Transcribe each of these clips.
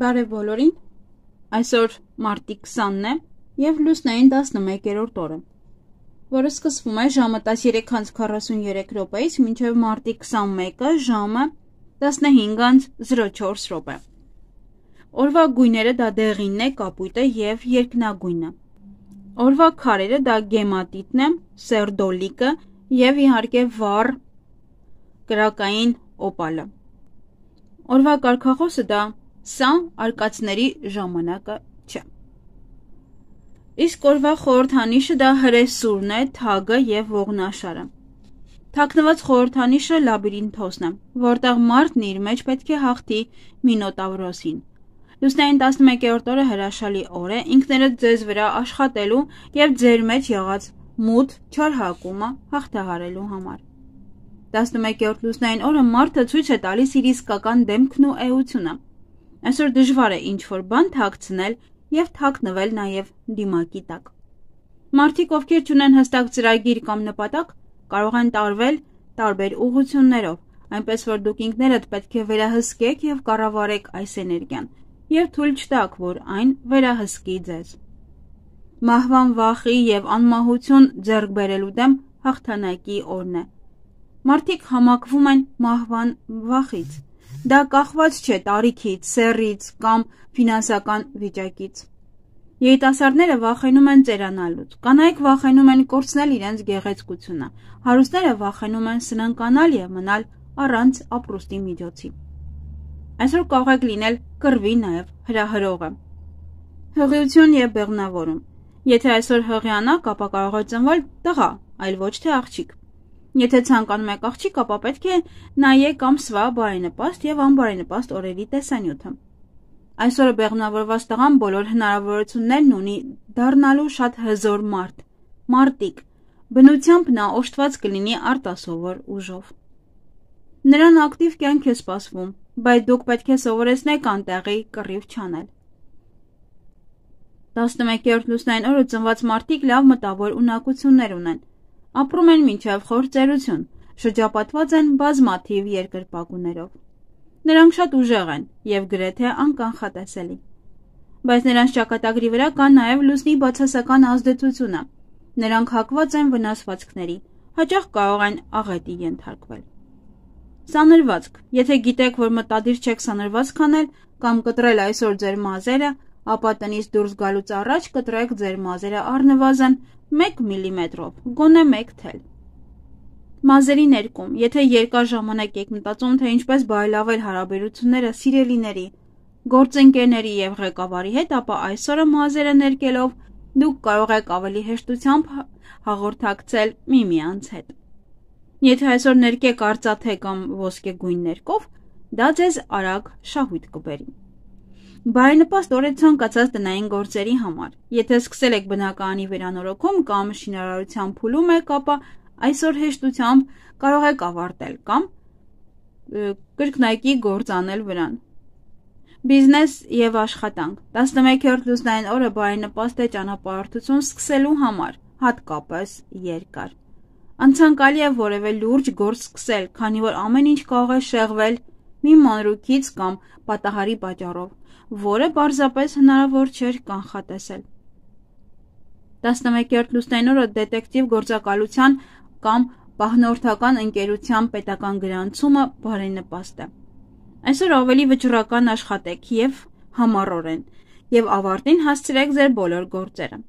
Բարև բոլորին, այսօր մարտի 20-ն է և լուսնային 11-րդ օրը, որը սկսվում է ժամը 13:43-ից մինչև մարտի 21-ը ժամը 15:04։ Օրվա գույները դա դեղինն է, կապույտը և երկնագույնը։ Օրվա քարերը դա գեմատիտն է, սերդոլիկը և իհարկե վառ կրակային օպալը։ Օրվա կարգախոսը դա սա արկածների ժամանակը չէ։ Իսկ օրվա խորհրդանիշը դա հրեսուրն է, թագը և ողնաշարը։ Թաքնված խորհրդանիշը լաբիրինթոսն է, որտեղ մարդն իր մեջ պետք է հաղթի մինոտավրոսին։ Լուսնային 11-րդ օրը հրաշալի օր է ինքներդ ձեզ վրա աշխատելու և ձեր մեջ եղած մութ չարհակումը հաղթահարելու համար։ 11-րդ լուսնային օրը մարդը ցույց է տալիս իր իսկական դեմքն ու էությունը։ Այսօր դժվար է ինչ-որ բան թաքցնել և թաքնվել նաև դիմակի տակ։ Մարդիկ, ովքեր չունեն հստակ ծրագիր կամ նպատակ, կարող են տարվել տարբեր ուղղություններով, այնպես որ դուք ինքներդ պետք է վերահսկեք և կառավարեք այս էներգիան և թույլ չտաք, որ այն վերահսկի ձեզ։ Մահվան վախի և անմահություն ձեռք բերելու դեմ հաղթանակի օրն է։ Մարդիկ համակվում են մահվան վախից։ Դա կախված չէ տարիքից, սեռից կամ ֆինանսական վիճակից։ Երիտասարդները վախենում են ծերանալուց, կանայք վախենում են կորցնել իրենց գեղեցկությունը, հարուստները վախենում են սնանկանալ և մնալ առանց ապրուստի միջոցի։ Այսօր կարող եք լինել կռվի նաև հրահրողը։ Հղիություն և բեղմնավորում։ Եթե այսօր հղիանաք, ապա կարող է ծնվել տղա, այլ ոչ թե աղջիկ։ Եթե ցանկանում եք աղջիկ, ապա պետք է նայեք ամսվա բարենպաստ և անբարենպաստ օրերի տեսանյութը։ Այսօր բեղմնավորված տղան բոլոր հնարավորություններն ունի դառնալու շատ հզոր մարդ, մարտիկ, բնությամբ նա օժտված կլինի արտասովոր ուժով։ Նրան ակտիվ կյանք է սպասվում, բայց դուք պետք է սովորեցնեք անտեղի կռիվ չանել։ 11-րդ լուսնային օրը ծնված մարդիկ լավ մտավոր ունակություններ ունեն, ապրում են մինչև խոր ծերություն, շրջապատված են բազմաթիվ երկրպագուներով։ Նրանք շատ ուժեղ են և գրեթե անկանխատեսելի։ Բայց նրանց ճակատագրի վրա կա նաև լուսնի բացասական ազդեցությունը։ Նրանք հակված են վնասվածքների, հաճախ կարող են աղետի ենթարկվել։ Սանրվածք։ Եթե գիտեք, որ մտադիր չեք սանրվածք անել կամ կտրել այսօր ձեր մազերը, ապա տնից դուրս գալուց առաջ կտրեք ձեր մազերը առնվազն 1 մմ-ով, գոնե 1 թել։ Մազերի ներկում։ Եթե երկար ժամանակ եք մտածում, թե ինչպես բարելավել հարաբերությունները սիրելիների, գործընկերների և ղեկավարի հետ, ապա այսօրը մազերը ներկելով դուք կարող եք ավելի հեշտությամբ հաղորդակցել միմյանց հետ։ Եթե այսօր ներկեք արծաթե կամ ոսկեգույն ներկով, դա ձեզ արագ շահույթ կբերի։ Բարենպաստ օր է ցանկացած տնային գործերի համար։ Եթե սկսել եք բնակարանի վերանորոգում կամ շինարարության փուլում եք, ապա այսօր հեշտությամբ կարող եք ավարտել կամ կրկնակի գործ անել վրան։ Բիզնես և աշխատանք։ 11-րդ լուսնային օրը բարենպաստ է ճանապարհորդություն սկսելու համար, հատկապես երկար։ Անցանկալի է որևէ լուրջ գործ սկսել, քանի որ ամեն ինչ կարող է շեղվել մի մանրուքից կամ պատահարի պատճառով, որը պարզապես հնարավոր չէր կանխատեսել։ 11-րդ լուսնային օրը դետեկտիվ գործակալության կամ պահնորդական ընկերության պետական գրանցումը բարենպաստ է։ Այսօր ավելի վճռական աշխատեք և համառորեն և ավարտին հասցրեք ձեր բոլոր գործերը։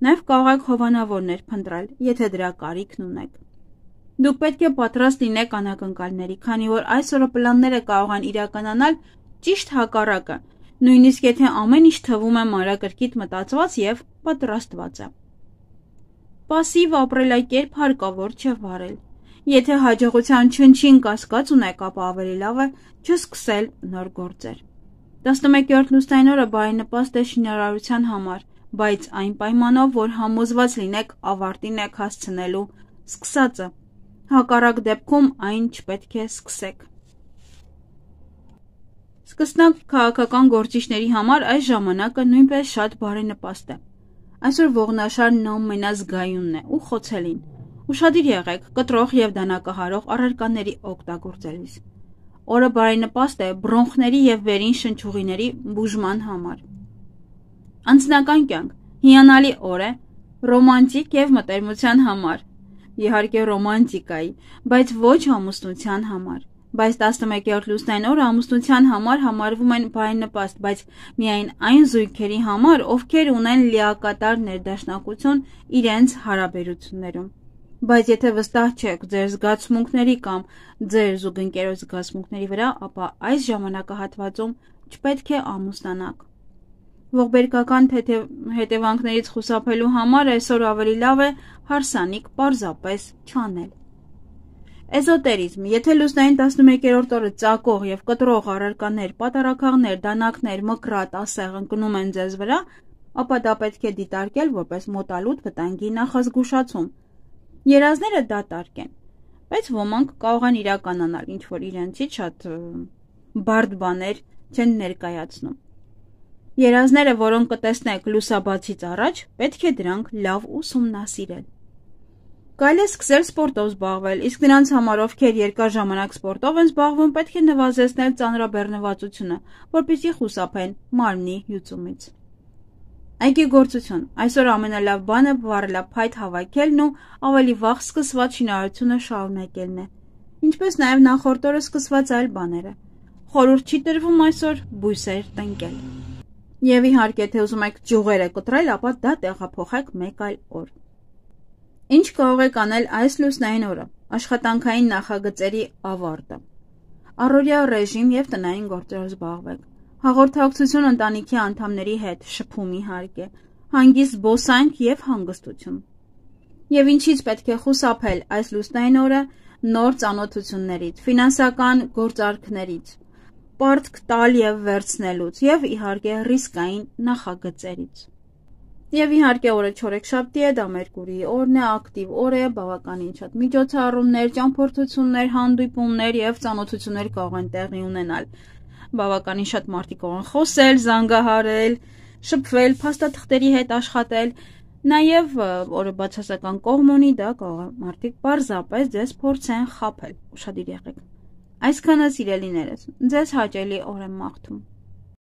Նաև կարող եք հովանավորներ փնտրել, եթե դրա կարիքն ունեք։ Դուք պետք է պատրաստ լինեք անակնկալների, քանի որ այսօրը պլանները կարող են իրականանալ ճիշտ հակառակը, նույնիսկ եթե ամեն ինչ թվում է մանրակրկիտ մտածված և պատրաստված է։ Պասիվ ապրելակերպ հարկավոր չէ վարել։ Եթե հաջողության չնչին կասկած ունեք, ապա ավելի լավ է չսկսել նոր գործեր։ 11-րդ լուսնային օրը բարենպաստ է շինարարության համար, բայց այն պայմանով, որ համոզված լինեք ավարտին եք հասցնելու սկսածը։ Հակառակ դեպքում այն չպետք է սկսեք։ Սկսնակ քաղաքական գործիչների համար այս ժամանակը նույնպես շատ բարենպաստ է։ Այսօր ողնաշարն ամենազգայունն է ու խոցելին։ Ուշադիր եղեք կտրող և դանակահարող առարկաների օգտագործելիս։ Օրը բարենպաստ է բրոնխների եւ վերին շնչուղիների բուժման համար։ Անձնական կյանք հիանալի օր է ռոմանտիկ եւ մտերմության համար, իհարկե ռոմանտիկայի, բայց ոչ ամուսնության համար։ Բայց 11-րդ լուսնային օրը ամուսնության համար համարվում են բարենպաստ, բայց միայն այն զույգերի համար, ովքեր ունեն լիակատար ներդաշնակություն իրենց հարաբերություններում։ Բայց եթե վստահ չեք ձեր զգացմունքների կամ ձեր զուգընկերոջ զգացմունքների վրա, ապա այս ժամանակահատվածում չպետք է ամուսնանաք։ Ողբերգական հետևանքներից խուսափելու համար այսօր ավելի լավ է հարսանիք պարզապես չանել։ Էզոտերիզմ, եթե լուսնային 11-րդ օրը ծակող եւ կտրող առարկաներ, պատարակաղներ, դանակներ, մկրատ, ասեղ ընկնում են ձեզ վրա, ապա դա պետք է դիտարկել որպես մոտալուտ վտանգի նախազգուշացում։ Երազները դատարկ են, բայց ոմանք կարող են իրականանալ, ինչ որ իրենցից շատ բարդ բաներ չեն ներկայացնում։ Երազները, որոնք կտեսնեք լուսաբացից առաջ, պետք է դրանք լավ ուսումնասիրել։ Կարելի է սկսել սպորտով զբաղվել, իսկ նրանց համար, ովքեր երկար ժամանակ սպորտով են զբաղվում, պետք է նվազեցնել ծանրաբեռնվածությունը, որպեսզի խուսափեն մարմնի հյուծումից։ Այգեգործություն։ Այսօր ամենալավ բանը վառելափայտ հավաքելն ու ավելի վաղ սկսված շինարարությունը շարունակելն է, ինչպես նաև նախորդ օրը սկսված այլ բաները։ Խորհուրդ չի տրվում այսօր բույսեր տնկել։ Եվ իհարկե, թե ուզում եք ճյուղերը կտրել, ապա դա տեղափոխեք մեկ այլ օր։ Ինչ կարող եք անել այս լուսնային օրը։ Աշխատանքային նախագծերի ավարտը։ Առօրյա ռեժիմ եւ տնային գործերով զբաղվեք։ Հաղորդակցություն ընտանիքի անդամների հետ, շփում իհարկե, հանգիստ զբոսանք եւ հանգստություն։ Եվ ինչից պետք է խուսափել այս լուսնային օրը նոր ծանոթություններից, ֆինանսական գործարքներից, պարտք տալ եւ վերցնելուց եւ իհարկե ռիսկային նախագծերից։ Եվ իհարկե օրը չորեքշաբթի է, դա Մերկուրիի օրն է, ակտիվ օր է, բավականին շատ միջոցառումներ, ճամփորդություններ, հանդիպումներ եւ ծանոթություններ կարող են տեղի ունենալ։ Բավականին շատ մարդիկ կարող են խոսել, զանգահարել, շփվել, փաստաթղթերի հետ աշխատել, նաև օրը բացասական կողմ ունի, դա կարող է մարդիկ պարզապես ձեզ փորձեն խաբել, ուշադիր եղեք։ Այսքանը սիրելիներս, ձեզ հաճելի օր եմ մաղթում։